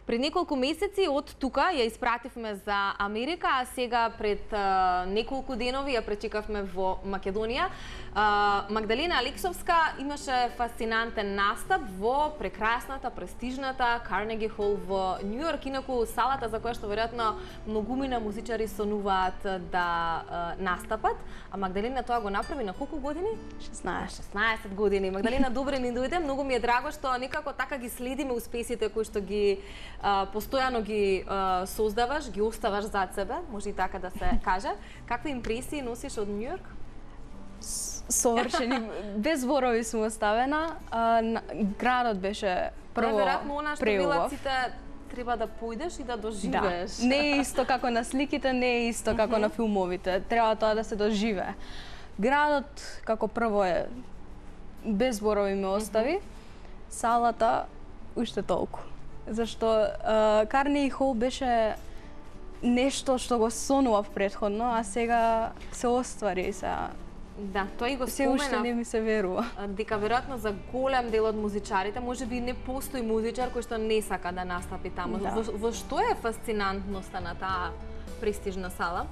Пред неколку месеци од тука ја испративме за Америка, а сега пред неколку денови ја пречекавме во Македонија. Магдалина Алексовска имаше фасцинантен настап во прекрасната, престижната Карнеги Хол во Њу Јорк, инаку салата за која што веројатно многумина музичари сонуваат да настапат. А Магдалина тоа го направи на колку години? 16 години. Магдалина, добре ни дојде. Многу ми е драго што некако така ги следиме успесите кои што ги постојано ги создаваш, ги оставаш зад себе, може и така да се каже. Какви импресии носиш од Њу Јорк? Совршени, без зборови сум оставена. Градот беше прво Веројатно она што велат сите, треба да појдеш и да доживееш. Да. Не е исто како на сликите, не е исто како на филмовите. Треба тоа да се доживее. Градот како прво е без зборови ме остави. Салата уште толку. Зашто Карнеги Хол беше нешто што го сонував претходно, а сега се оствари се. Да, тоа и го се уште не ми се верува. Дека веројатно за голем дел од музичарите можеби не постои музичар кој што не сака да настапи таму. Да. Во што е фасцинантноста на таа престижна сала?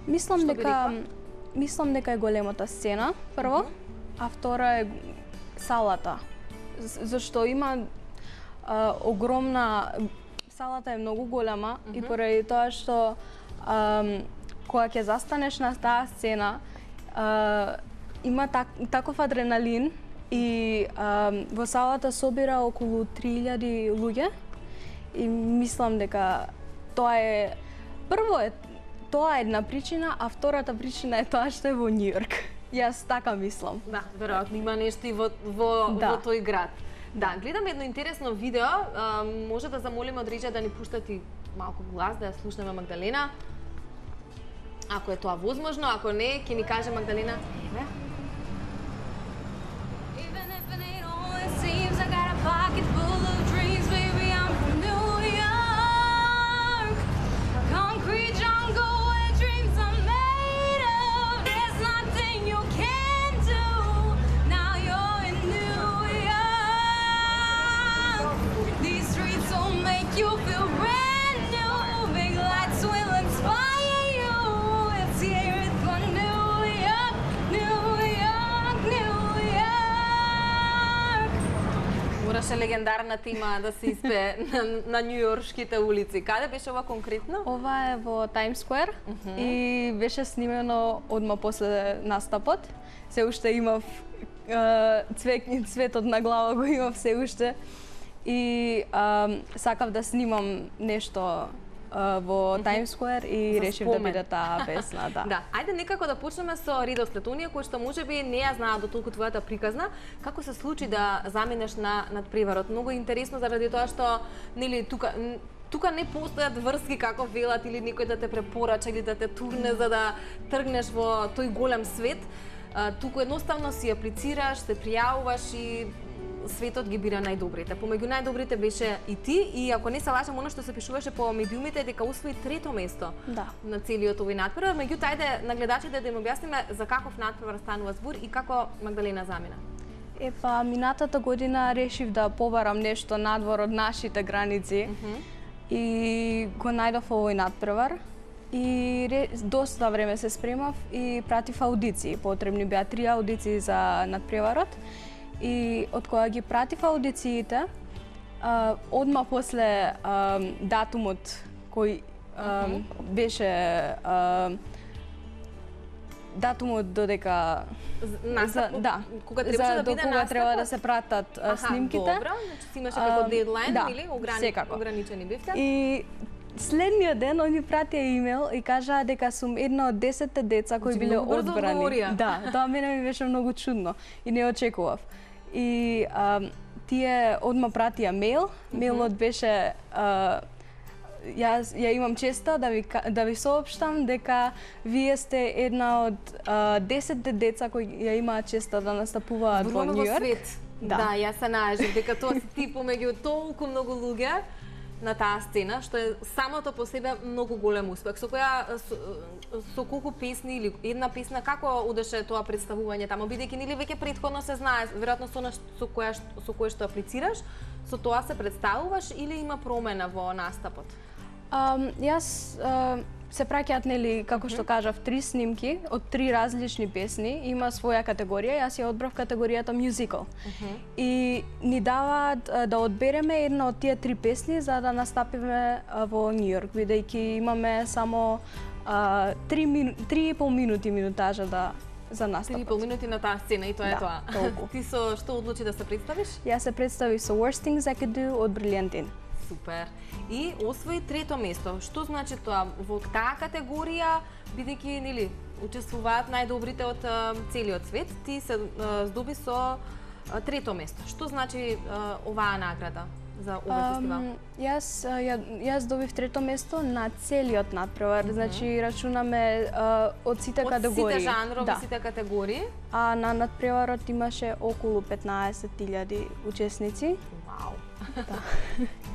Мислам дека е големата сцена, прво, а втора е салата. Зашто има огромна, салата е многу голема и поради тоа што кога ќе застанеш на таа сцена има таков адреналин и во салата собира околу 3000 луѓе и мислам дека тоа е тоа е една причина, а втората причина е тоа што е во Њу Јорк. Јас така мислам. Да, веројатно има нешто и во тој град. Да, гледам едно интересно видео, може да замолиме од Риџа да ни пуштат и малку глас, да ја слушнеме Магдалина. Ако е тоа возможно, ако не, ќе ни каже Магдалина. Еве. Мораше легендарната има да се испее на њујоршките улици. Каде беше ова конкретно? Ова е во Таймс Сквер и беше снимено одма после настапот. Се уште имав цветот на глава го имав се уште и сакав да снимам нешто во Таймс Сквер и решив да биде таа песна, да. Да, ајде некако да почнеме со редослед. Оние кои што можеби не ја знаат дотолку твојата приказна, како се случи да заминеш на надпреварот? Многу интересно заради тоа што нели тука не постојат врски како велат или некој да те препорача или да те турне за да тргнеш во тој голем свет. Туку едноставно си аплицираш, се пријавуваш и светот ги бира најдобрите. Помеѓу најдобрите беше и ти, и ако не се лажам, оно што се пишуваше по медиумите дека освои 3-то место на целиот овој надпревар. Меѓутоа, ајде на гледачите да им објасниме за каков надпревар станува збор и како Магдалина замина. Минатата година решив да побарам нешто надвор од нашите граници и го најдов овој надпревар. И доста време се спремав и пратив аудиции. Потребни беа 3 аудиции за надпреварот. И од кога ги пратив аудициите, одма после датумот кој беше датумот додека кога требаше да биде настапот, треба да се пратат снимките. Добро, значи си имаше како дедлайн или ограничени бевте. И следниот ден они пратија имејл и кажаа дека сум една од 10 деца кои биле одбрани. Да, тоа мене ми беше многу чудно и не очекував. И тие одма пратија мејл, мејлот беше јас ја имам честа да ви соопштам дека вие сте една од 10 деца кои ја имаат честа да настапуваат во Њу Јорк. Да, јас се најажив дека тоа си ти помеѓу толку многу луѓе. на таа сцена, што е самото по себе многу голем успех. Со колку песни или една песна, како одеше тоа представување таму, бидејќи нели веќе претходно се знае, веројатно со кое што аплицираш, со тоа се представуваш или има промена во настапот? Јас се праќаат, нели, како што кажав, 3 снимки од 3 различни песни, има своја категорија, јас ја одбрав категоријата musical. И ни даваат да одбереме една од тие 3 песни за да настапиме во Нью Йорк, бидејќи имаме само 3,5 минути минутажа за настапот. 3,5 минути на таа сцена и тоа е тоа. Толку. Ти со што одлучи да се представиш? Јас се представив со Worst Things I Could Do од Brilliantine. Супер. И освои 3-то место. Што значи тоа? Во таа категорија, бидејќи нели учествуваат најдобрите од целиот свет, ти се здоби со 3-то место. Што значи оваа награда за овој фестивал? Јас добив 3-то место на целиот надпревар, значи рачунаме од сите категории. Од сите жанрови, сите категории. А на надпреварот имаше околу 15.000 учесници. Вау. Да.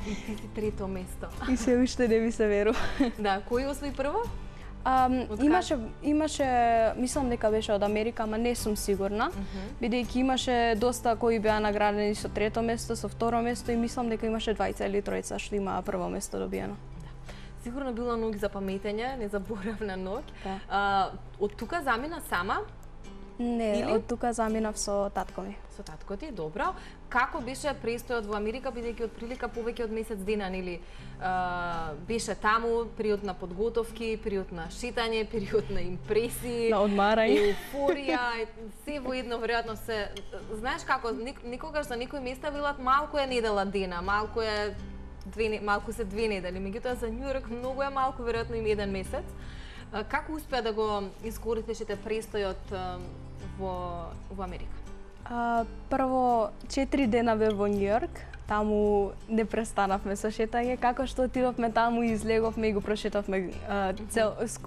И ти си 3-то место. И се уште не ми се верува. Да, кој освои прво? Имаше, мислам дека беше од Америка, ама не сум сигурна, бидејќи имаше доста кои беа наградени со 3-то место, со 2-ро место и мислам дека имаше 2 или 3 што имаа прво место добиено. Сигурно било ноќ за паметење, незаборавна ноќ. Од тука замина сама? Не, од тука заминав со татко ми. Со татко ти, добро. Како беше престојот во Америка, бидејќи од прилика повеќе од месец дена, нели, беше таму, период на подготовки, период на шетање, период на импресии, на одмарање, еуфорија, се во едно, веројатно се. Знаеш како, никогаш за некои места велат малку е недела дена, малку се 2 недели, меѓутоа за Њу Йорк многу е малку, веројатно им 1 месец. Како успеа да го искористиш престојот во Америка? Прво 4 дена бев во Њу Йорк, таму не престанавме со шетање, како што отидовме таму и излеговме и го прошетавме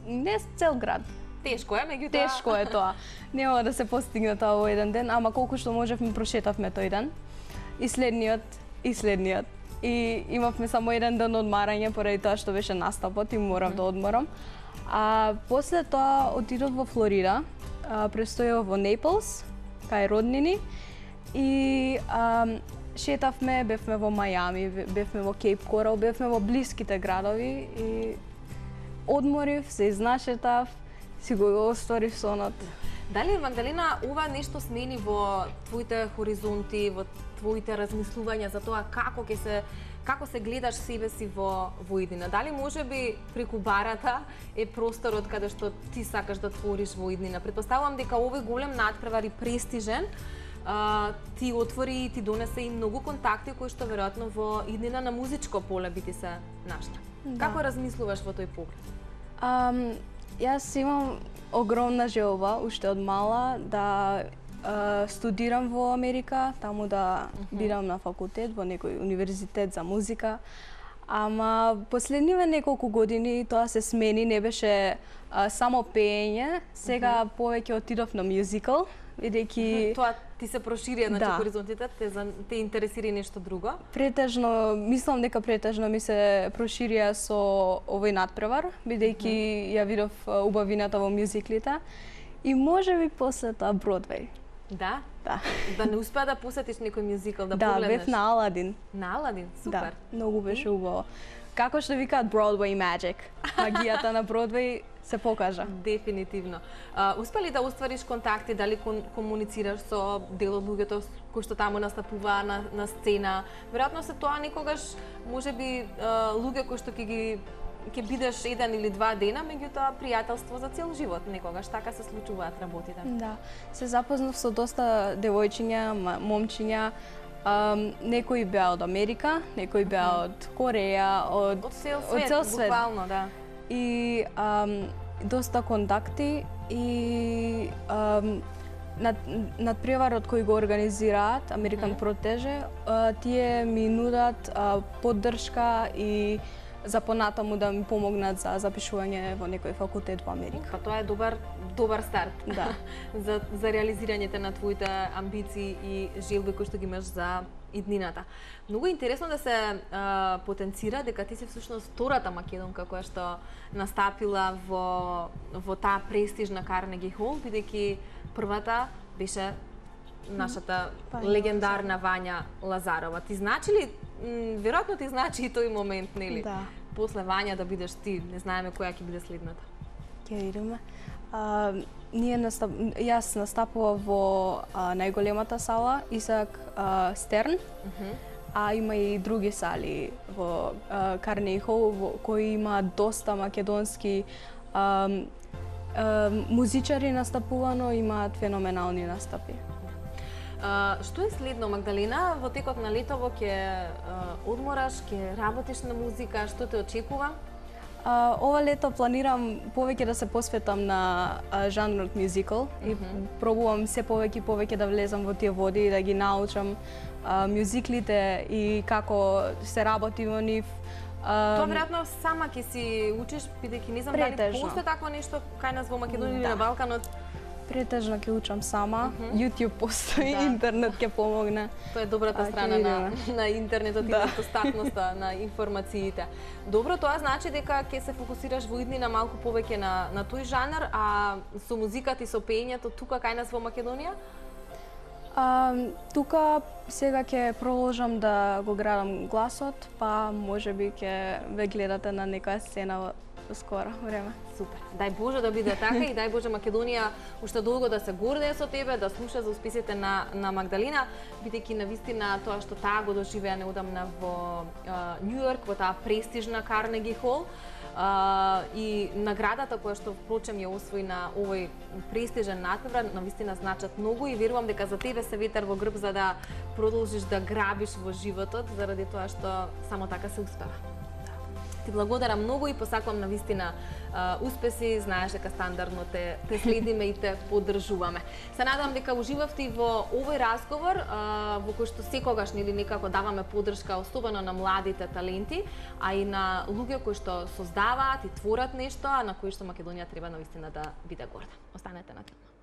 не цел град. Тешко е, меѓутоа. Тешко е тоа. Нема да се постигне тоа во еден ден, ама колку што можевме прошетавме тој ден. И следниот. И имавме само еден ден одмарање поради тоа што беше настапот и морав да одморам. А после тоа отидов во Флорида, престојав во Нејплс, кај роднини и шетавме, бевме во Мајами, бевме во Кейп Корал, бевме во блиските градови и одморив, се изнашетав, си го остварив сонот. Дали, Магдалина, ова нешто смени во твоите хоризонти, во твоите размислувања за тоа како се гледаш себе си во иднина? Дали можеби преку барата е просторот каде што ти сакаш да твориш во иднина? Претпоставувам дека овој голем надпревар и престижен ти отвори и ти донесе и многу контакти кои што веројатно во иднина на музичко поле би ти се нашла. Да. Како размислуваш во тој поглед? Јас имам огромна желба уште од мала да студирам во Америка, таму да бидам на факултет во некој универзитет за музика. Ама последниве неколку години тоа се смени, не беше само пеење, сега повеќе отидов на мюзикал, бидејќи тоа ти се прошири на хоризонтите, те интересира нешто друго? Претежно, мислам дека претежно ми се проширија со овој надпревар, бидејќи ја видов убавината во мюзиклите и можеби после тоа Бродвеј. Да? Да. Да не успеа да посетиш некој мюзикал, да погледнеш? Да, бев на Аладин. На Аладин, супер. Да, многу беше убаво. Како што викаат Broadway Magic, магијата на Бродвеј се покажа. Дефинитивно. Успели да оствариш контакти, дали комуницираш со дел од луѓето кои што таму настапуваа на сцена? Веројатно се тоа некогаш можеби луѓе кои што ќе бидеш 1 или 2 дена, меѓутоа пријателство за цел живот, некогаш така се случуваат работите. Да, се запознав со доста девојчиња, момчиња, некои беа од Америка, некои беа од Кореја, од цел свет, буквално, да. И доста контакти и надпреварот кој го организираат, American Protege, тие ми нудат поддршка и за понатаму да ми помогнат за запишување во некој факултет во Америка. Па тоа е добар старт. Да. за реализирањето на твоите амбиции и желби кои што ги имаш за иднината. Многу интересно да се потенцира дека ти си всушност втората македонка која што настапила во таа престижна Карнеги Хол, бидејќи првата беше нашата легендарна Вања Лазарова. Ти значи ли, веројатно ти значи и тој момент, нели? Да. После Вања да бидеш ти, не знаеме која ќе биде следната. Ќе видиме. Јас настапував во најголемата сала Исаак Стерн, а има и други сали во Карнеги Хол кои има доста македонски музичари настапувано, имаат феноменални настапи. Што е следно, Магдалина? Во текот на летово ќе одмораш, ќе работиш на музика, што те очекува? Ова лето планирам повеќе да се посветам на жанрот мюзикал и пробувам се повеќе да влезам во тие води и да ги научам мюзиклите и како се работи во нив. Тоа веројатно сама ќе си учиш, бидејќи не знам дали постои такво нешто кај нас во Македонија или на Балканот. Претежно ќе учам сама. YouTube постои, интернет ќе помогне. Тоа е добрата страна на интернетот и достапноста на информациите. Добро, тоа значи дека ќе се фокусираш во иднина малку повеќе на тој жанр, а со музиката и со пеењето тука кај нас во Македонија? Тука сега ќе продолжам да го градам гласот, па можеби ќе ве гледате на некоја сцена во скоро време. Супер. Дај Боже да биде така и дај Боже Македонија уште долго да се гордее со тебе, да слуша за успесите на Магдалина, бидејќи навистина тоа што таа го доживеа неодамна во Њу Јорк, во таа престижна Карнеги Хол, и наградата која што впрочем ја освои на овој престижен надпревар, навистина значат многу и верувам дека за тебе се ветер во грб за да продолжиш да грабиш во животот, заради тоа што само така се успева. Ти благодарам многу и посакувам навистина успеси, знаеш дека стандардно те следиме и те поддржуваме. Се надам дека уживавте во овој разговор во кој што секогаш нели некако даваме поддршка особено на младите таленти, а и на луѓе кои што создаваат и творат нешто, а на кои што Македонија треба навистина да биде горда. Останете на тема.